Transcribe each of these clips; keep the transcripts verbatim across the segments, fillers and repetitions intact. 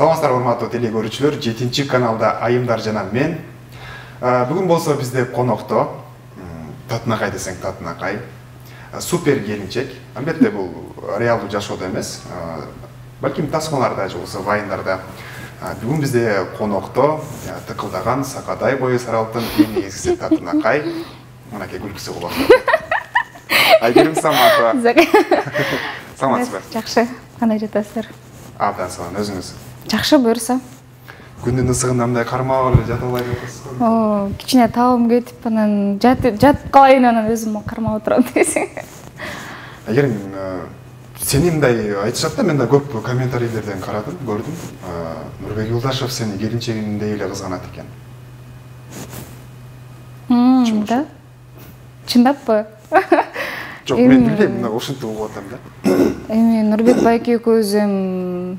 Саламатсыздар урматтуу теле көрүүчүлөр, жетинчи каналда Айымдар жана мен. Бүгүн болсо бизде конокто Татынакай десең Татынакай. Супер келинчек. Албетте бул реалдуу жашоодо эмес. Балким тасмаларда же болбосо вайндарда. Бүгүн бизде конокто тыкылдаган сакадай бою саралттын эң эгиси Татынакай. Мынакей күлкүсү кулак. Айгерим Саматова. Саламатсызбы? Жакшы. Кандай жатасыздар? Абдан салам, өзүңүз? Жакшы, буюрса. Күндүн ысыгында мындай кармап эле жатып албай жатасыз. О, кичине табым кетип, анан жатып жатып калайын, анан өзүм кармап отурам десең. Айгерим, сени мындай айтышат да, мен да көп комментарийлерден карадым, көрдүм. Нурбек Юлдашев сени келинчегиндей эле кызганат экен. Мм, да. Чындаппы? Жок, мен билбейм, мына ушинтип угуп атам да. Эми Нурбек байке экөөбүз эми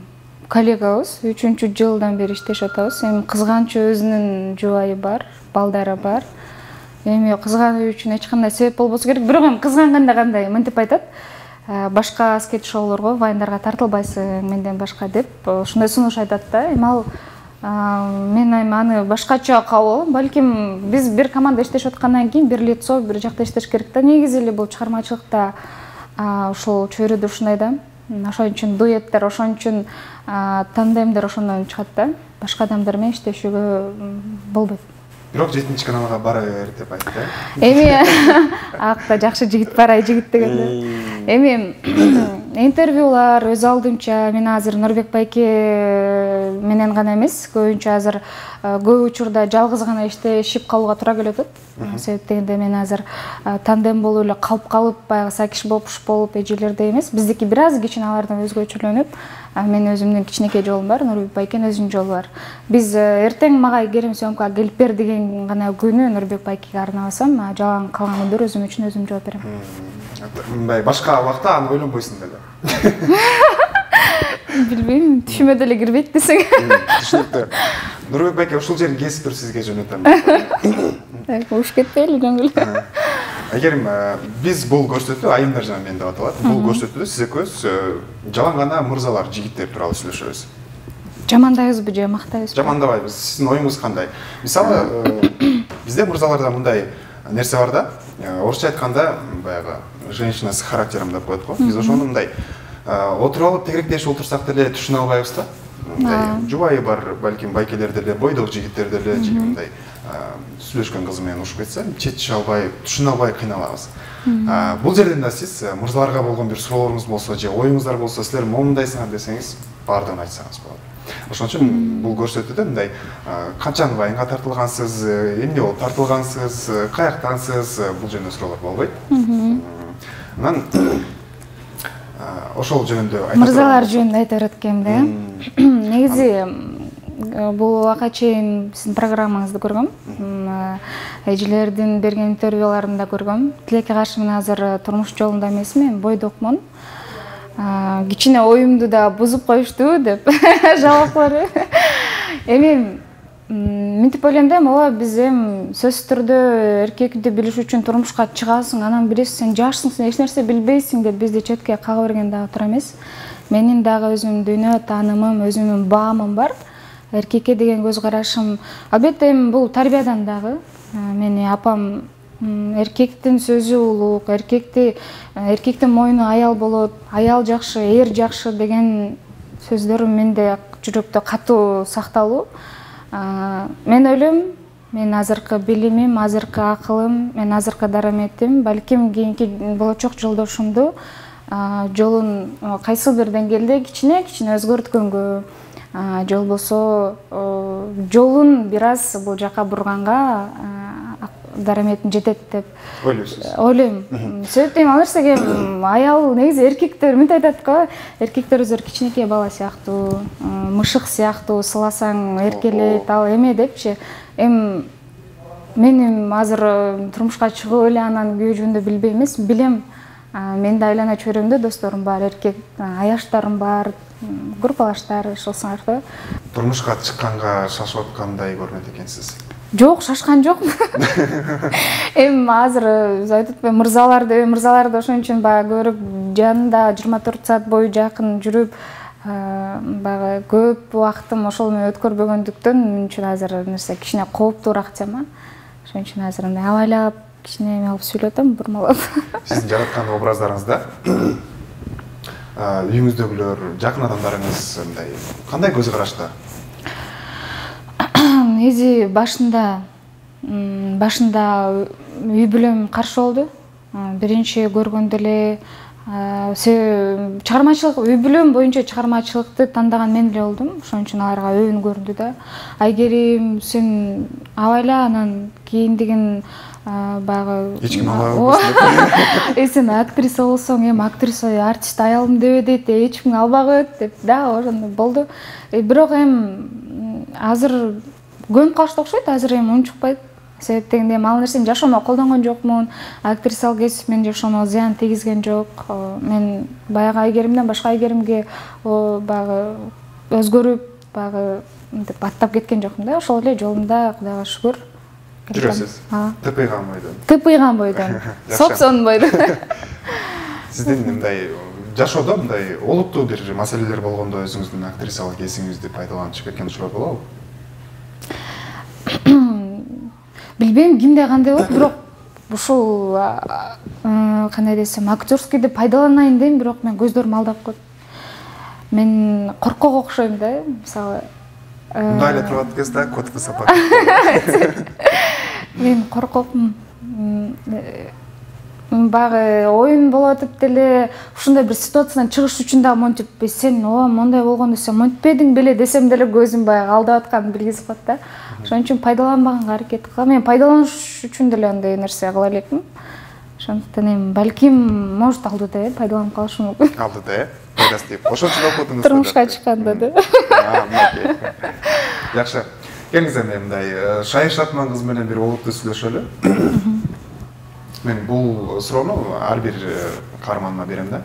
коллегабыз, үчүнчү жылдан бери иштешип атабыз. Эми кызганчу өзүнүн жубайы бар, балдары бар. Эми кызгануу үчүн эч кандай себеп болбосо керек. Бирок эми кызганганда кандай, мынтип айтат. Башка скетч-шоулорго, вайндарга тартылбайсың менден башка деп, ошондой сунуш айтат да. Эми ал мен эми аны башкача кабыл. Балким биз бир команда иштешип аткандан кийин бир лицо, бир жакта иштеш керек да. Негизи эле бул чыгармачылыкта ошол чөйрөдө ушундай да. Ошон үчүн дуэттер, ошон үчүн тандемдер ошондон чыгат да. Башка адамдар менен иштешүүгө болбойт. Бирок жетинчи каналга бара бер деп айтты. Эми акта жакшы жигит барай жигит дегенде. Эми интервьюлар өз алдымча мен азыр Нурбек байке менен гана эмес, көбүнчө азыр көп учурда жалгыз гана иштешип калууга туура келип атат. Себеп дегенде мен азыр тандем болуп эле калып калып, баягы сакиш бопуш болуп эжелердей эмес. Биздики бир аз кичине алардан өзгөчөлөнүп, мен өзүмдүн кичинекей жолум бар, Нурбек байкенин өзүнүн жолу бар. Биз эртең мага Айгерим съемкага келип бер деген гана күнү Нурбек байкеге арнабасам, жалаң калгандыр өзүм үчүн өзүм жооп берем. Мындай башка убакта аны ойлонбойсуң деле. Билбейм, түшүмө деле кирбейт десең. Түшүнүктүү. Нурбек байке, ушул жерин кесип туруп сизге жөнөтөм. Уш кетпейли жөнгүл. Айгерим, биз бул көрсөтүү Айымдар жана мен деп аталат. Бул көрсөтүүдө сиз экөөбүз жалаң гана мырзалар, жигиттер тууралуу сүйлөшөбүз. Жамандайбызбы же мактайбызбы? Жамандабайбыз. Сиздин оюңуз кандай? Мисалы, бизде мырзаларда мындай нерсе бар да. Орусча айтканда баягы женщина с характером деп коет го. Биз ошону мындай отуруп алып тегеректешип отурсак деле түшүнө албайбыз да. Мындай жубайы бар, балким байкелер деле, бойдок жигиттер деле мындай сүйлөшкөн кызы менен ушуп кетсе, четише албай, түшүнө албай кыйналабыз. Бул жерден да сиз мырзаларга болгон бир суроолоруңуз болсо же оюңуздар болсо, силер момундайсыңар десеңиз, баардыгын айтсаңыз болот. Ошон үчүн бул көрсөтүүдө мындай канчаны вайнга тартылгансыз, эмне болуп тартылгансыз, каяктансыз, бул жөнүндө суроолор болбойт. Анан ошол жөнүндө айтып мырзалар жөнүндө айта берет экенмин да. Негизи бул убакка чейин сиздин программаңызды көргөм. Эжелердин берген интервьюларында көргөм. Тилекке каршы мен азыр турмуш жолунда эмесмин, бойдокмун. Кичине оюмду да бузуп коюшту деп жалаклар. Эми мынтип ойлойм да, ооба биз эми сөзсүз түрдө эркекти билиш үчүн турмушка чыгасың, анан билесиң, сен жашсың, сен эч нерсе билбейсиң деп бизди четке кага берген дагы туура эмес. Менин дагы өзүмдүн дүйнө таанымым, өзүмдүн баамым бар. Эркекке деген көз карашым, албетте эми бул тарбиядан дагы. Мени апам эркектин сөзү улук, эркекти эркектин мойну аял болот, аял жакшы, эр жакшы деген сөздөр менде жүрөктө катуу сакталуу. Мен ойлойм, мен азыркы билимим, азыркы акылым, мен азыркы дараметим, балким кийинки болочок жолдошумду жолун кайсы бир деңгээлде кичине-кичине өзгөрткөнгө, же болбосо жолун бир аз бул жака бурганга дараметим жетет деп ойлойсуз. Ойлойм. Себеп дейм, ал нерсеге аял негизи эркектер мынтип айтат го, эркектер өздөрү кичинекей бала сыяктуу, мышык сыяктуу, сыласаң эркелейт, ал эме депчи. Эми мен азыр турмушка чыгып эле анан күйөө жөнүндө билбей эмес, билем. Мен да айлана чөйрөмдө досторум бар, эркек аяштарым бар, группалаштар, ошолсуңар. Турмушка чыкканга шашып аткандай көрүнөт экенсиз. Жок, шашкан жокмун. Эми азыр айтып мырзаларды, мырзаларды ошон үчүн баягы көрүп, жанында жыйырма төрт саат бою жакын жүрүп, баягы көп убактым ошол менен өткөрбөгөндүктөн мен үчүн азыр нерсе кичине кооптуураак тема. Ошон үчүн азыр мындай абайлап кичине эме кылып сүйлөп атам, бурмалап. Сиздин жараткан образдарыңызда үйүңүздөгүлөр, жакын адамдарыңыз мындай кандай көз карашта? Эзи башында башында үй бүлөм каршы болду. Биринчи көргөндө эле чыгармачылык үй бүлөм боюнча чыгармачылыкты тандаган мен эле болдум. Ошон үчүн аларга өбүн көрүндү да. Айгерим, сен абайла, анан кийиндигин баягы эч ким албайбы. Э сен актриса болсоң, эми актриса артист аялым дебе дейт, эч ким албагыт деп да, ошондой болду. Бирок эми азыр көнүп калышты окшойт, азыр эми унчукпайт. Себеп дегенде ал нерсени жашоомо колдонгон жокмун. Актрисалык кесип мен жашоомо зыян тийгизген жок. Мен баягы Айгеримден башка Айгеримге баягы өзгөрүп, баягы мынтип баттап кеткен жокмун да. Ошол эле жолумда, Кудайга шүгүр. Жүрөсүз. Тыпыйган бойдон. Тыпыйган бойдон. Сопсон бойдон. Сиздин мындай жашоодо мындай олуттуу бир маселелер болгондо өзүңүздүн актрисалык эсиңизди пайдаланып кеткен учурлар болобу? Билбейм кимде кандай болот, бирок ушул кандай десем, актерскийди пайдаланайын дейм, бирок мен көздөрүм алдап коет. Мен коркок окшойм да, мисалы. Мындай эле турат кез да, котку сапат. Мен коркокмун. Багы оюн болуп атып деле ушундай бир ситуациядан чыгыш үчүн да монтип, сен о мондай болгондо сен монтпедиң беле десем деле көзүм баягы алдап атканын билгизип коет да. Ошон үчүн пайдаланбаганга аракет кылам. Мен пайдаланыш үчүн деле андай нерсе кыла элекмин. Ошондуктан эми балким может алдыда э пайдаланып калышым мүмкүн. Алдыда э? Пайдасы тип. Ошон үчүн окудуңуз. Турмушка чыкканда да. Жакшы. Келиңиз эми мындай Шайыр Шатман кызы менен бир олуттуу сүйлөшөлү. Мен бул суроону ар бир каарманыма берем да.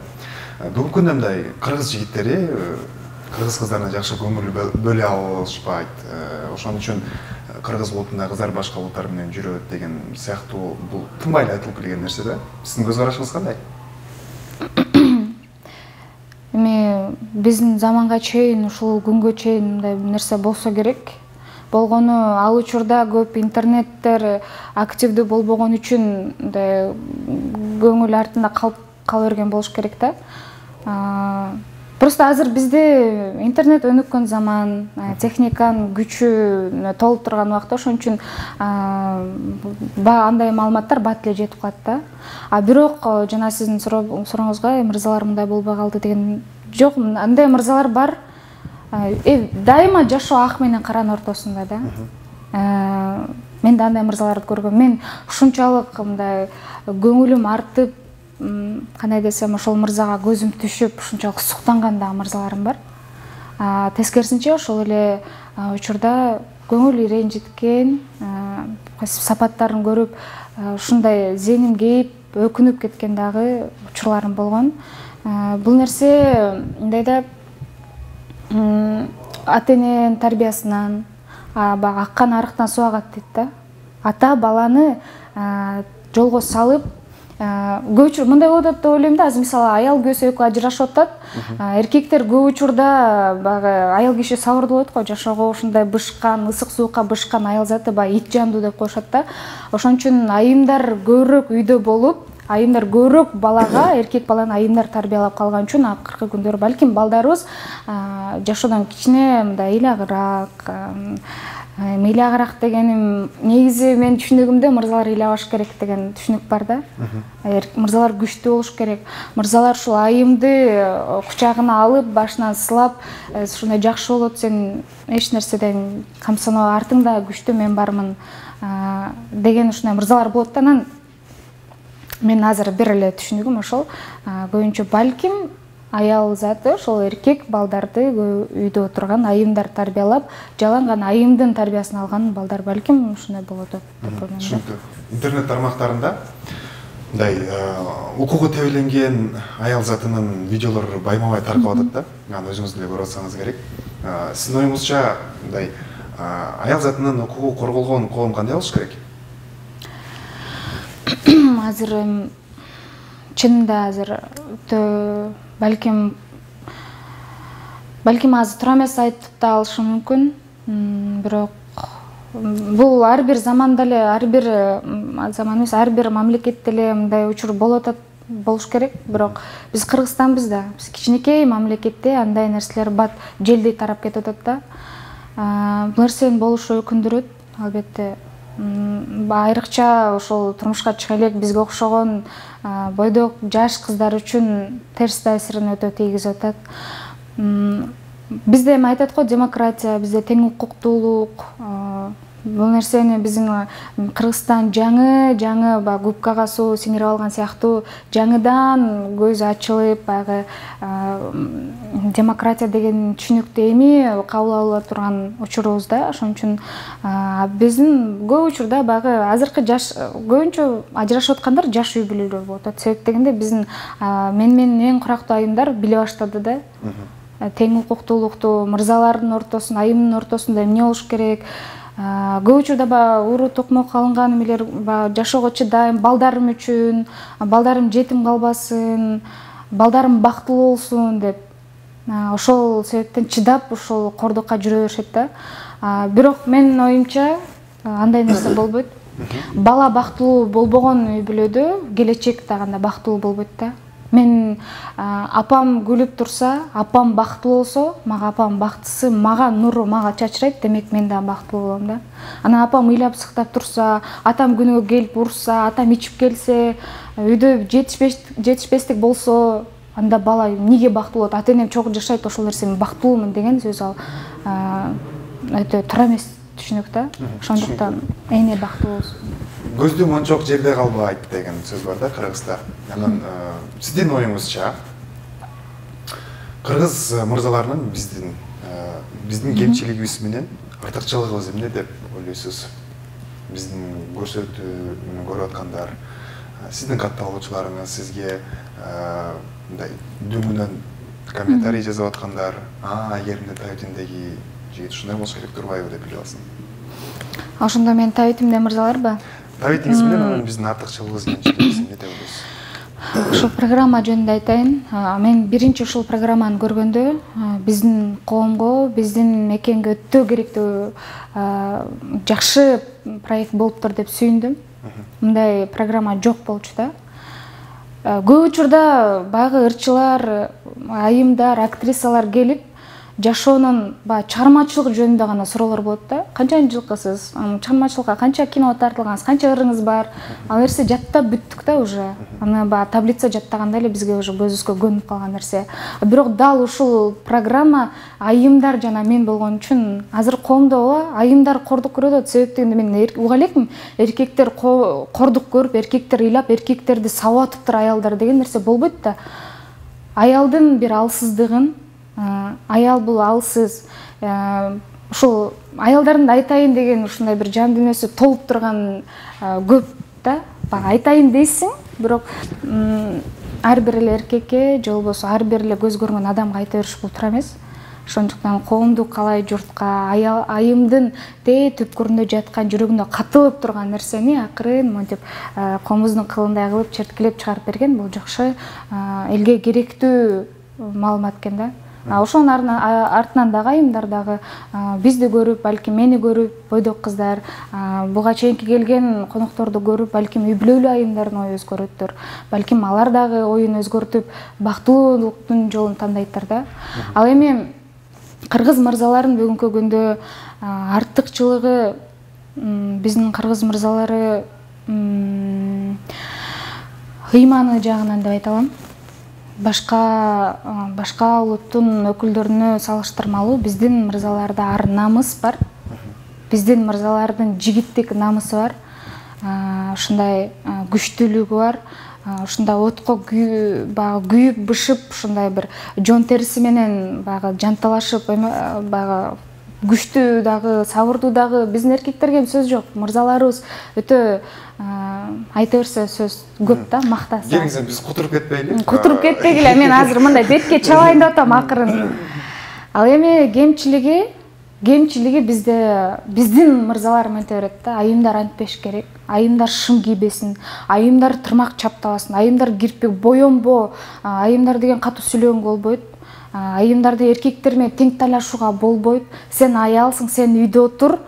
Бүгүнкү күндө мындай кыргыз жигиттери кыргыз кыздарына жакшы көңүл бөлө алышпайт. Ошон үчүн кыргыз улутунда кыздар башка улуттар менен жүрөт деген сыяктуу бул тынбай эле айтылып келген нерсе да. Сиздин көз карашыңыз кандай? Эми биздин заманга чейин, ушул күнгө чейин мындай нерсе болсо керек. Болгону ал учурда көп интернеттер активдүү болбогон үчүн мындай көңүл артында калып кала берген болуш керек да. Просто азыр бизде интернет өнүккөн заман, техниканын күчү толуп турган убакта, ошон үчүн андай маалыматтар бат эле жетип калат да. А бирок жана сиздин сурооңузга мырзалар мындай болбой калды деген жок, андай мырзалар бар. Дайыма жашоо ак менен каранын ортосунда да. Мен да андай мырзаларды көргөм. Мен ушунчалык мындай көңүлүм артып, кандай десем, ошол мырзага көзүм түшүп, ушунчалык суктанган да мырзаларым бар. Тескерисинче ошол эле учурда көңүл ренжиткен, сапаттарын көрүп, ушундай зеним кейип, өкүнүп кеткен дагы учурларым болгон. Бул нерсе мындай да ата-эненин тарбиясынан, баягы аккан арыктан суу агат дейт да. Ата баланы жолго салып, көп учур мындай болот деп ойлойм да. Азыр мисалы аял күйөөсү экөө ажырашып атат. Эркектер көп учурда баягы аял киши сабырдуу болот го, жашоого ушундай бышкан, ысык суукка бышкан аял заты баягы ит жандуу деп коюшат да. Ошон үчүн айымдар көбүрөөк үйдө болуп, айымдар көбүрөөк балага, эркек баланы айымдар тарбиялап калган үчүн акыркы күндөрү балким балдарыбыз жашоодон кичине мындай ыйлагыраак, ыйлагыраак дегеним негизи менин түшүнүгүмдө мырзалар ыйлабаш керек деген түшүнүк бар да. Мырзалар күчтүү болуш керек. Мырзалар ушул айымды кучагына алып, башынан сылап, ушундай жакшы болот, сен эч нерседен камсыноо, артыңда күчтүү мен бармын деген ушундай мырзалар болот да. Анан мен азыр бир эле түшүнүгүм ошол, көбүнчө балким аял заты ошол эркек балдарды үйдө отурган айымдар тарбиялап, жалаң гана айымдын тарбиясын алган балдар балким ушундай болот деп ойлойм. Түшүнүктүү. Интернет тармактарында мындай укугу тебеленген аял затынын видеолору байма-бай таркап атат да. Аны өзүңүз деле көрүп атсаңыз керек. Сиздин оюңузча мындай аял затынын укугу корголгон коом кандай болуш керек? Азыр чынында азыр балким балким азыр туура эмес айтып да алышым мүмкүн, бирок бул ар бир заманда эле, ар бир заман эмес, ар бир мамлекетте эле мындай учур болуп атат, болуш керек. Бирок биз Кыргызстанбыз да, биз кичинекей мамлекетте андай нерселер бат желдей тарап кетип атат да. Бул нерсенин болушу өкүндүрөт, албетте. Айрыкча ошол турмушка чыга элек бизге окшогон бойдок жаш кыздар үчүн терс таасирин өтө тийгизип атат. Бизде эми айтат го, демократия, бизде тең укуктуулук. Бул нерсени биздин Кыргызстан жаңы жаңы баягы губкага суу сиңирип алган сыяктуу жаңыдан көз ачылып, баягы демократия деген түшүнүктү эми кабыл ала турган учурубуз да. Ошон үчүн биздин көп учурда баягы азыркы жаш көбүнчө ажырашып аткандар жаш үй бүлөлөр болуп атат. Себеп дегенде биздин менин эң курактуу айымдар биле баштады да. Тең укуктуулукту мырзалардын ортосунда, айымдын ортосунда эмне болуш керек? Көп учурда баягы уруу токмок алынган эмелер, баягы жашоого чыдайм, балдарым үчүн, балдарым жетим калбасын, балдарым бактылуу болсун деп, ошол себептен чыдап ошол кордукка жүрө беришет да. Бирок менин оюмча андай нерсе болбойт. Бала бактылуу болбогон үй бүлөдө келечек дагы бактылуу болбойт да. Мен апам күлүп турса, апам бактылуу болсо, мага апам бактысы, мага нуру мага чачырайт, демек мен да бактылуу болом да. Анан апам ыйлап сыктап турса, атам күнүгө келип урса, атам ичип келсе, үйдө жетишпестик болсо, анда бала эмнеге бактылуу болот? Ата-энем чогуу жашайт, ошол нерсе мен бактылуумун деген сөз ал өтө туура эмес түшүнүк да. Ошондуктан эне бактылуу болсун. Көздү мончок жерде калбайт деген сөз бар да Кыргызда. Анан сиздин оюңузча кыргыз мырзаларынын биздин биздин кемчилигибиз менен артыкчылыгыбыз эмне деп ойлойсуз? Биздин көрсөтүүнү көрүп аткандар, сиздин катталуучуларыңыз сизге мындай дөңүнөн комментарий жазып аткандар, а эгеринде Табитиндеги жигит ушундай болуш керек турбайбы деп биле алсың? Ошондо мен Табитимде мырзаларбы? Табитиңиз менен анан биздин артыкчылыгыбыз кемчилигибиз эмне деп ойлойсуз? Ушул программа жөнүндө айтайын. Мен биринчи ушул программаны көргөндө биздин коомго, биздин мекенге өтө керектүү жакшы проект болуптур деп сүйүндүм. Мындай программа жок болчу да. Көп учурда баягы ырчылар, айымдар, актрисалар келип жашоонун баягы чыгармачылык жөнүндө гана суроолор болот да. Канчанчы жылкысыз, чыгармачылыкка канча кино тартылгансыз, канча ырыңыз бар? Ал нерсе жаттап бүттүк да уже. Аны баягы таблица жаттагандай эле бизге уже көзүбүзгө көнүп калган нерсе. Бирок дал ушул программа айымдар жана мен болгон үчүн азыр коомдо айымдар кордук көрүп атат. Себеп дегенде мен уга элекмин, эркектер кордук көрүп, эркектер ыйлап, эркектерди сабап атыптыр аялдар деген нерсе болбойт да. Аялдын бир алсыздыгын, аял бул алсыз, ушул аялдардын айтайын деген ушундай бир жан дүйнөсү толуп турган көп да. Айтайын дейсиң, бирок ар бир эле эркекке же болбосо ар бир эле көз көргөн адамга айта бериш бул туура эмес. Ошондуктан коомдук калай журтка, айымдын тээ түпкүрүндө жаткан, жүрөгүндө катылып турган нерсени акырын монтип коомубуздун кылындай кылып черткилеп чыгарып берген, бул жакшы, элге керектүү маалымат экен да. Ошонун артынан дагы айымдар дагы бизди көрүп, балким мени көрүп, бойдок кыздар, буга чейинки келген конокторду көрүп, балким үй бүлөлүү айымдардын ою өзгөрөттүр. Балким алар дагы оюн өзгөртүп, бактылуулуктун жолун тандайттыр да. Ал эми кыргыз мырзаларын бүгүнкү күндө артыкчылыгы, биздин кыргыз мырзалары ыйманы жагынан деп айта алам. Башка башка улуттун өкүлдөрүнө салыштырмалуу биздин мырзаларда ар намыс бар. Биздин мырзалардын жигиттик намысы бар. Ушундай күчтүүлүгү бар. Ушундай отко баягы күйүп бышып, ушундай бир жон териси менен баягы жанталашып, баягы күчтүү дагы, сабырдуу дагы биздин эркектерге сөз жок. Мырзаларыбыз өтө айта берсе сөз көп да, мактаса. Келиңиз, биз кутуруп кетпейли? Кутуруп кетпегиле, мен азыр мындай бетке чабайын деп атам акырын. Ал эми кемчилиги, кемчилиги бизде биздин мырзалар менте берет да, айымдар антпеш керек. Айымдар шым кийбесин, айымдар тырмак чаптабасын, айымдар кирпик боембо, айымдар деген катуу сүйлөгөнгө болбойт. айымдарды эркектер менен тең талашууга болбойт, сен аялсың, сен үйдө отур,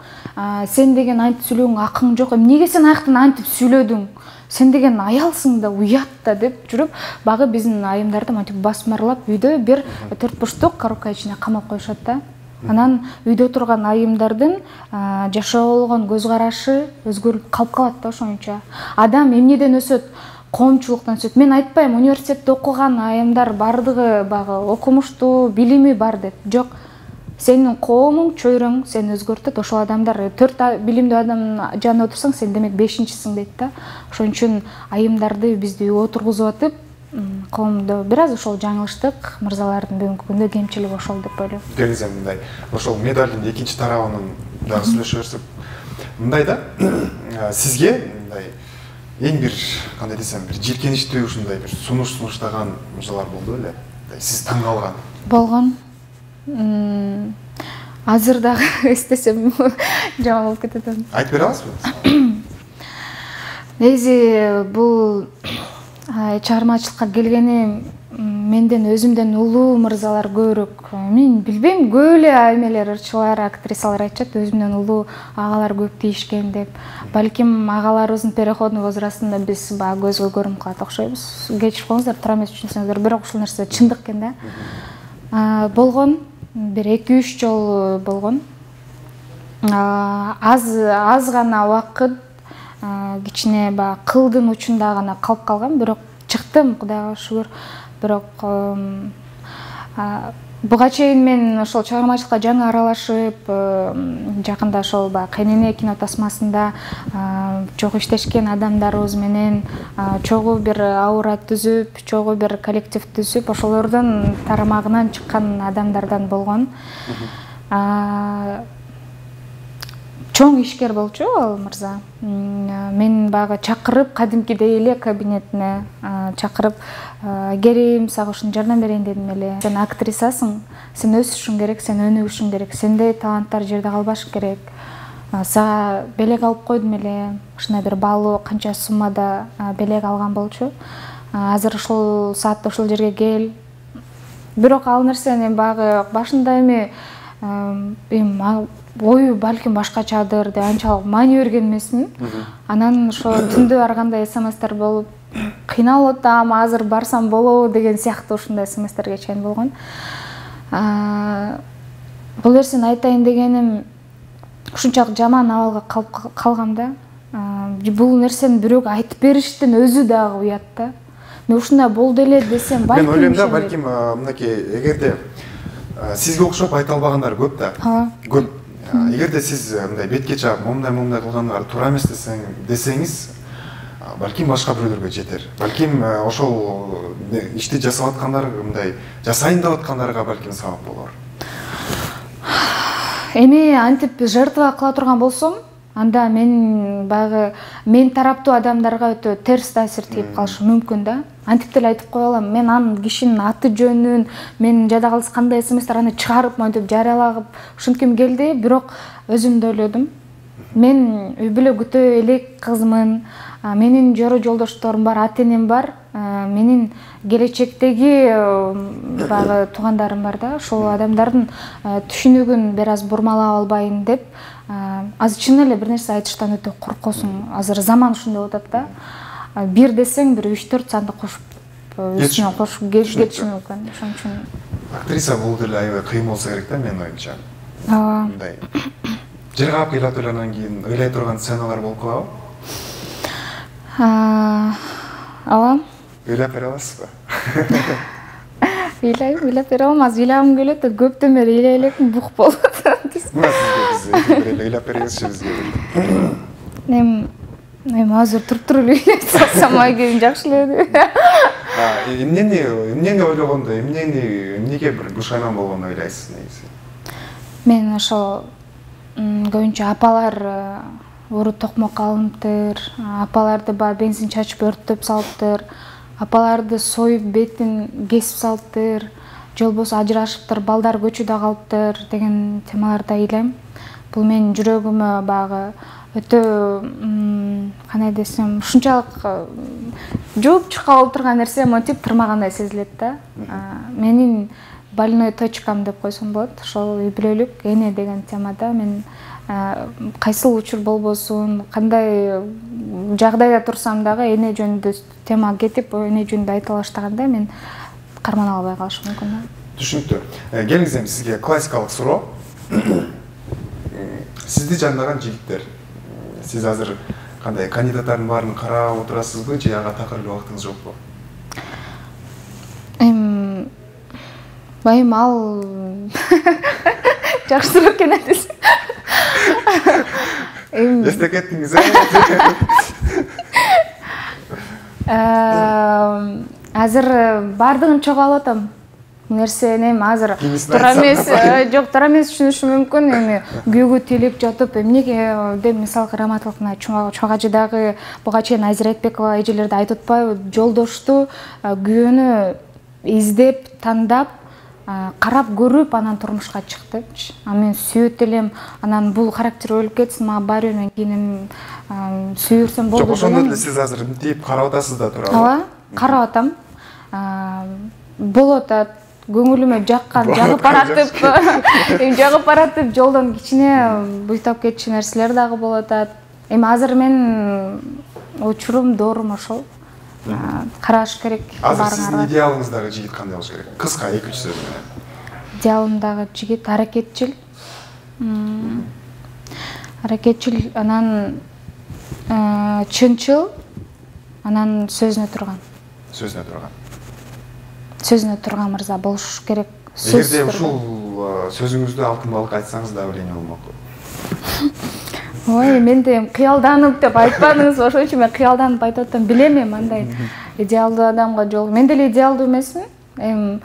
сен деген антип сүйлөгөнгө акың жок, эмнеге сен аяктан антип сүйлөдүң, сен деген аялсың да, уят да деп жүрүп, багы биздин айымдарды мынтип басмарлап үйдө бир төрт бурчтук коробка ичине камап коюшат да. Анан үйдө турган айымдардын жашоого болгон көз карашы өзгөрүп калып калат да ошончо. Адам эмнеден өсөт? Коомчулуктан өсөт. Мен айтпайм университетте окуган айымдар бардыгы багы окумуштуу, билими бар деп. Жок. Сенин коомуң, чөйрөң сени өзгөртөт. Ошол адамдар төрт билимдүү адамдын жанында отурсаң, сен демек бешинчисиң дейт да. Ошон үчүн айымдарды бизди отургузуп атып, коомдо бир аз ошол жаңылыштык, мырзалардын бүгүнкү күндө кемчилиги ошол деп ойлойм. Деңиз мындай, ошол медалдын экинчи тарабынын дагы сүйлөшө берсек, мындай да, сизге мындай эң бир кандай десем, бир жийкеничтүү ушундай бир сунуш сунуштаган мырзалар болду беле? Сиз таң калган. Болгон. Азыр дагы эстесем жаман болуп кетет. Айтып бере аласызбы? Негизи бул чыгармачылыкка келгени менден өзүмдөн улуу мырзалар көбүрөөк. Мен билбейм, көп эле эмелер, ырчылар, актрисалар айтышат, өзүмдөн улуу агалар көп тийишкен деп. Балким агаларыбыздын переходный возрастында биз баягы көзгө көрүнүп калат окшойбуз. Кечирип коюңуздар, туура эмес түшүнсөңүздөр, бирок ушул нерсе чындык экен да. Болгон, бир эки үч жол болгон. Аз аз гана убакыт кичине баягы кылдын учунда гана калып калгам, бирок чыктым, Кудайга шүгүр. Бирок буга чейин мен ошол чыгармачылыкка жаңы аралашып, жакында ошол баягы Кайнене кино тасмасында чогуу иштешкен адамдарыбыз менен чогуу бир аура түзүп, чогуу бир коллектив түзүп, ошолордун тарамагынан чыккан адамдардан болгон. Чоң ишкер болчу ал мырза. Мен багы чакырып, кадимкидей эле кабинетине чакырып, "Герим, сага ушуну жардам берейин" дедим эле. Сен актрисасың, сен өсүшүң керек, сен өнүгүшүң керек, сендей таланттар жерде калбаш керек. Сага белек алып койдум эле. Ушундай бир баалуу канча суммада белек алган болчу. Азыр ушул саатта ушул жерге кел. Бирок ал нерсени багы башында эми ою балким башкачадыр деп анчалык маани берген эмесмин. Анан ошо түндө барганда смстер болуп, кыйналып атам, азыр барсам болобу деген сыяктуу ушундай смстерге чейин болгон. Бул нерсени айтайын дегеним, ушунчалык жаман абалга калып калгам да. Бул нерсени бирөөгө айтып бериштин өзү дагы уят да. Мен ушундай болду эле десем, балким. Мен ойлойм да, балким мынакей, эгерде сизге окшоп айта албагандар көп да. Көп. Эгерде сиз мындай бетке чаап, момундай момундай кылгандар туура эмес десеңиз, балким башка бирөөлөргө жетер. Балким ошол ишти жасап аткандар мындай жасайын деп аткандарга балким сабап болор. Эми антип жертва кыла турган болсом, анда мен баягы мен тараптуу адамдарга өтө терс таасир тийип калышы мүмкүн да. Антип деле айтып кое алам, мен анын кишинин аты жөнүн, менин жада калыс кандай смстер аны чыгарып монтип жарыялагып ушинтким келди, бирок өзүм да ойлодум. Мен үй бүлө күтө элек кызмын, менин жору жолдошторум бар, ата-энем бар, менин келечектеги баягы туугандарым бар да, ошол адамдардын түшүнүгүн бир аз бурмалап албайын деп, азыр чын эле бир нерсе айтыштан өтө коркосуң. Азыр заман ушундай болуп атат да. Бир десең, бир үч төрт санды кошуп, үстүнө кошуп кетиши мүмкүн. Ошон үчүн актриса бул деле аябай кыйын болсо керек да, менин оюмча. Ооба. Мындай жер каап ыйлап элгандан кийин ыйлай турган сценалар болуп калабы? Ооба. Ыйлап бере аласызбы? Ыйлайм, ыйлап бере алам. Азыр ыйлагым келет, көптөн бери ыйлай элекмин, бук болуп атат. Мына сизге биз ыйлап беребизчи бизге. Эми Эми азыр туруп-туруп эле салсам айгем жакшы эле. Эмнени, эмнени ойлогондо, эмнени, эмнеге бир бушайман болгону ойлойсуз негизи? Мен ошол көбүнчө апалар уру токмок алыныптыр, апаларды баягы бензин чачып өрттөп салыптыр, апаларды союп бетин кесип салыптыр, же болбосо ажырашыптыр, балдар көчөдө калыптыр деген темаларды ыйлайм. Бул менин жүрөгүмө баягы өтө кандай десем, ушунчалык жууп чыккан болуп турган нерсе монтип тырмагандай сезилет да. Менин больной точкам деп койсом болот. Ошол үй бүлөлүк эне деген темада мен кайсыл учур болбосун, кандай жагдайда турсам дагы эне жөнүндө тема кетип, эне жөнүндө айтыла баштаганда мен кармана албай калышым мүмкүн да. Түшүнүктүү. Келиңиз эми сизге классикалык суроо. Сизди жандаган жигиттер, сиз азыр кандай кандидаттардын баарын карап отурасызбы же ага такыр эле убактыңыз жокпу? Эм байым ал жакшы суроо экен атесиз. Эм эстеп кеттиңиз э? Азыр бардыгын чогуу алып атам. Нерсени эми азыр туура эмес, жок, туура эмес түшүнүшүм мүмкүн. Эми күйөөгө тилеп жатып, эмнеге деп мисалы Раматовна чоң ажыдагы буга чейин Азира Айтбекова эжелерди айтып атпайбы, жолдошту күйөөнү издеп, тандап, карап көрүп анан турмушка чык депчи. А мен сүйөт элем, анан бул характер өлүп кетсин, мага баары бир, мен кийин сүйүрсөм болду. Жок, ошондо эле сиз азыр мынтип карап атасыз да туурабы? Ооба, карап атам. Болот атат, көңүлүмө жаккан, жагып баратып, эми жагып баратып, жолдон кичине буйтап кетчү нерселер дагы болот атат. Эми азыр мен учурум, доорум ошол. Караш керек. Азыр сиздин идеалыңыздагы жигит кандай болуш керек? Кыска, эки үч сөз менен. Идеалымдагы жигит аракетчил. Аракетчил, анан чынчыл, анан сөзүнө турган. Сөзүнө турган. Сөзүнө турган мырза болуш керек. Эгерде ушул сөзүңүздү алтын балык айтсаңыз да эмне болмок? Ой, мен де кыялданып деп айтпадыңыз, ошон үчүн мен кыялданып айтып атам, билем эми андай идеалдуу адамга жол. Мен деле идеалдуу эмесмин. Эми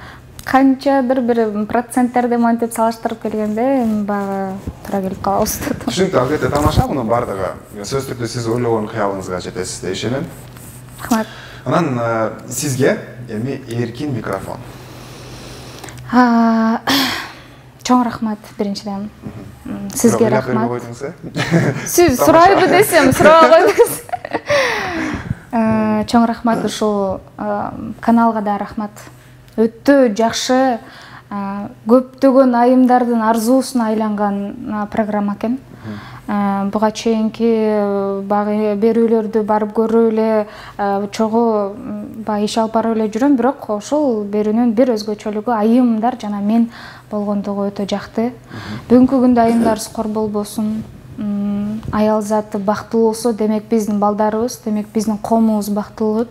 канчадыр бир проценттерди монтип салыштырып келгенде эми баягы туура келип калабыз. Түшүнүктүү, албетте тамаша, мунун баардыгы сөзсүз түрдө сиз ойлогон кыялыңызга жетесиз деп ишенем. Рахмат. Анан сизге эми эркин микрофон. Чоң рахмат биринчиден. Сизге рахмат. Койдуңуз, Сиз сурайбы десем, сурабай койдуңуз. Чоң рахмат, ушул каналга да рахмат. Өтө жакшы, көптөгөн айымдардын арзуусуна айланган программа экен. Буга чейинки багы берүүлөрдү барып көрүп эле, чогуу баягы иш алып барып эле жүрөм, бирок ошол берүүнүн бир өзгөчөлүгү айымдар жана мен болгондугу өтө жакты. Бүгүнкү күндө айымдар скор болбосун, аял заты бактылуу болсо, демек биздин балдарыбыз, демек биздин коомубуз бактылуу болот.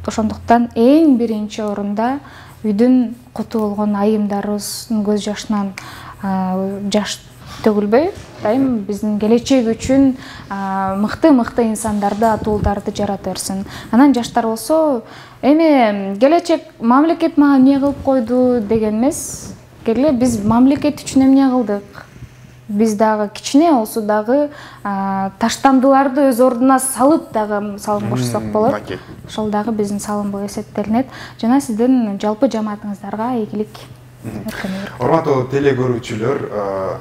Ошондуктан эң биринчи орунда үйдүн куту болгон айымдарыбыздын көз жашынан жаш төгүлбөй, дайым биздин келечек үчүн мыкты-мыкты инсандарды, атуулдарды жарата берсин. Анан жаштар болсо, эми келечек мамлекет мага эмне кылып койду деген эмес, келе биз мамлекет үчүн эмне кылдык? Биз дагы кичине болсо дагы таштандыларды өз ордуна салып дагы салым кошсок болот. Ошол дагы биздин салым болуп эсептелинет. Жана сиздин жалпы жамаатыңыздарга ийгилик. Урматтуу теле көрүүчүлөр,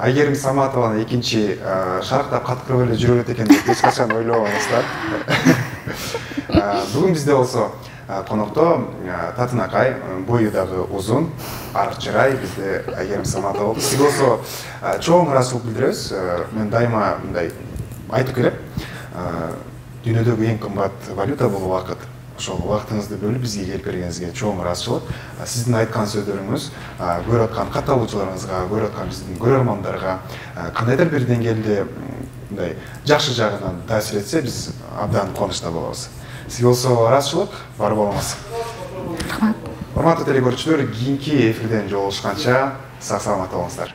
Айгерим Саматованын экинчи шарктап каткырып эле жүрөт экен деп эч качан ойлобоңуздар. Бүгүн бизде болсо конокто Татынакай, бою дагы узун, арык чырай бизде Айгерим Саматова болду. Сизге болсо чоң ыраазычылык билдиребиз. Мен дайыма мындай айтып келем. Дүйнөдөгү эң кымбат валюта бул убакыт. Ошол убактыңызды бөлүп бизге келип бергениңизге чоң ыраазычылык. Сиздин айткан сөздөрүңүз көрүп аткан катталуучуларыңызга, көрүп аткан биздин көрөрмандарга кандайдыр бир деңгээлде мындай жакшы жагынан таасир этсе, биз абдан кубанычта болобуз. Сизге болсо ыраазычылык, бар болуңуз. Рахмат. Урматтуу теле көрүүчүлөр, кийинки эфирден жолугушканча сак саламатта болуңуздар.